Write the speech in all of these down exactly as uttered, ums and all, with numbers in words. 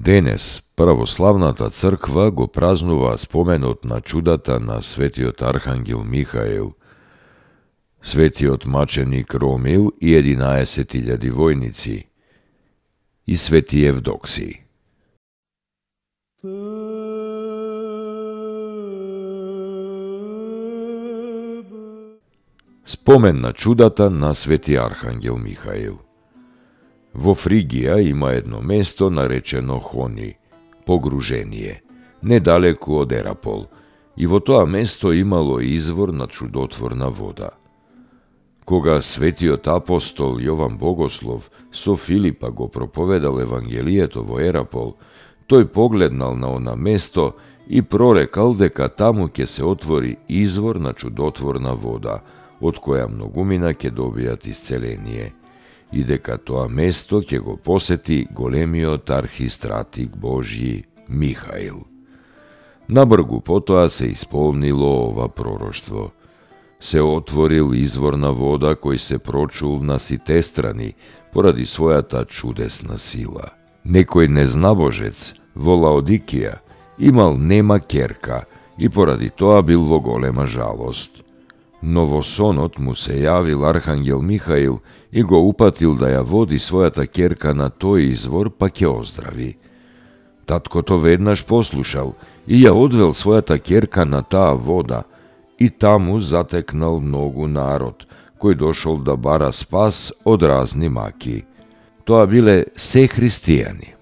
Денес православната црква го празнува споменот на чудата на светиот архангел Михаил, светиот маченик Ромил и единаесет илјади војници и свети Евдокси. Спомен на чудата на свети архангел Михаил. Во Фригија има едно место наречено Хони, погружение, недалеку од Ерапол, и во тоа место имало извор на чудотворна вода. Кога светиот апостол Јован Богослов со Филипа го проповедал Евангелието во Ерапол, тој погледнал на она место и прорекал дека таму ќе се отвори извор на чудотворна вода, од која многумина ќе добијат исцеление, и дека тоа место ќе го посети големиот архистратик Божји Михаил. Набргу потоа се исполнило ова пророштво. Се отворил извор на вода кој се прочул на сите страни поради својата чудесна сила. Некој незнабожец во Лаодикија имал нема ќерка и поради тоа бил во голема жалост. Но во сонот му се јавил архангел Михаил и го упатил да ја води својата ќерка на тој извор, па ќе оздрави. Таткото веднаш послушал и ја одвел својата ќерка на таа вода, и таму затекнал многу народ, кој дошол да бара спас од разни маки. Тоа биле се христијани.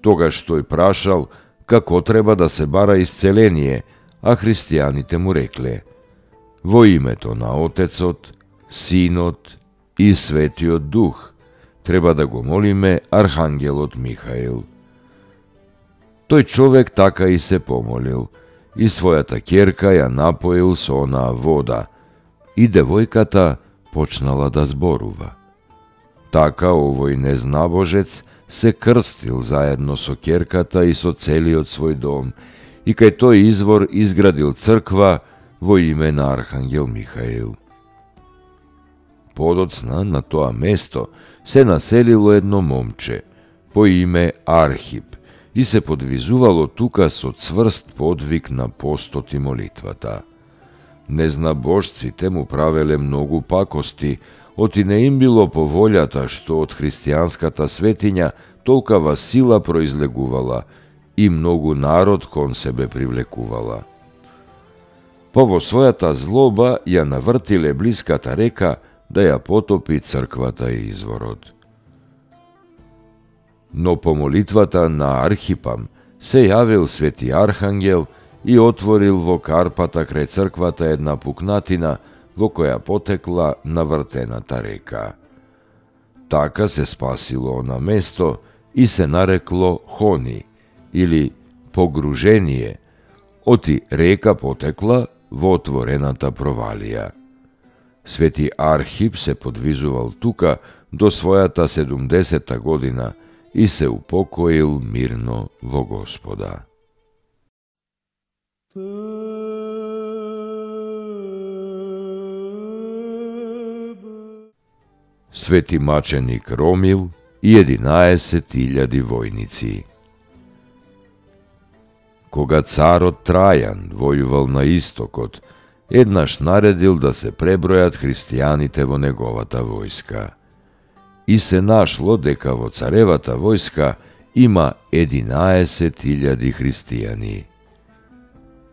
Тогаш тој прашал како треба да се бара исцеление, а христијаните му рекле: во името на Отецот, Синот и Светиот Дух треба да го молиме архангелот Михаил. Тој човек така и се помолил, и својата ќерка ја напоил со онаа вода, и девојката почнала да зборува. Така овој незнабожец се крстил заедно со ќерката и со целиот свој дом, и кај тој извор изградил црква во име на архангел Михаил. Подоцна на тоа место се населило едно момче по име Архип и се подвизувало тука со цврст подвиг на постот и молитвата. Незнабожците му правеле многу пакости, оти не им било по волјата што од христијанската светиња толкава сила произлегувала и многу народ кон себе привлекувала. Па во својата злоба ја навртиле блиската река да ја потопи црквата и изворот. Но по молитвата на Архипам се јавил свети архангел и отворил во карпата крај црквата една пукнатина во која потекла навртената река. Така се спасило она место и се нарекло Хони, или погружение, оти река потекла во отворената провалија. Свети Архип се подвизувал тука до својата седумдесета година и се упокоил мирно во Господа. Свети маченик Ромил и единаесет илјади војници. Кога царот Трајан војувал на истокот, еднаш наредил да се пребројат христијаните во неговата војска. И се нашло дека во царевата војска има единаесет илјади христијани.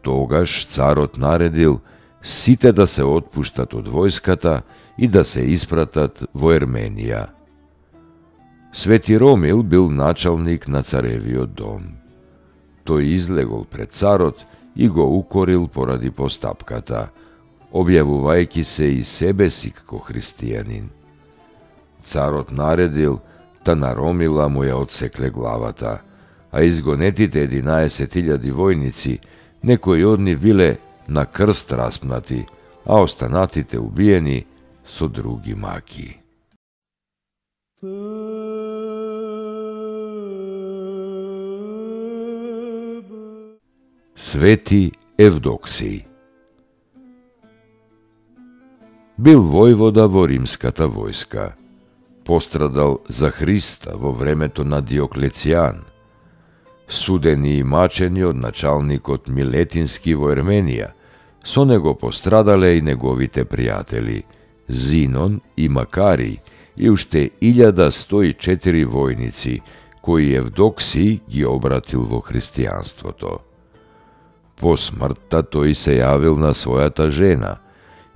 Тогаш царот наредил сите да се отпуштат од војската и да се испратат во Ерменија. Свети Ромил бил началник на царевиот дом. Тој излегол пред царот и го укорил поради постапката, објавувајќи се и себе си како христијанин. Царот наредил, та на Ромила му ја отсекле главата, а изгонетите единаесет илјади војници, некои од нив биле на крст распнати, а останатите убиени со други маки. Свети Евдоксиј бил војвода во римската војска. Пострадал за Христа во времето на Диоклецијан. Судени и мачени од началникот Милетински во Ерменија, со него пострадале и неговите пријатели Зинон и Макарий и уште илјада сто и четири војници, кои Евдоксиј ги обратил во христијанството. По смртта тој се јавил на својата жена,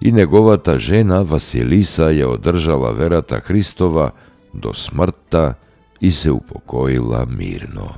и неговата жена Василиса ја одржала верата Христова до смртта и се упокоила мирно.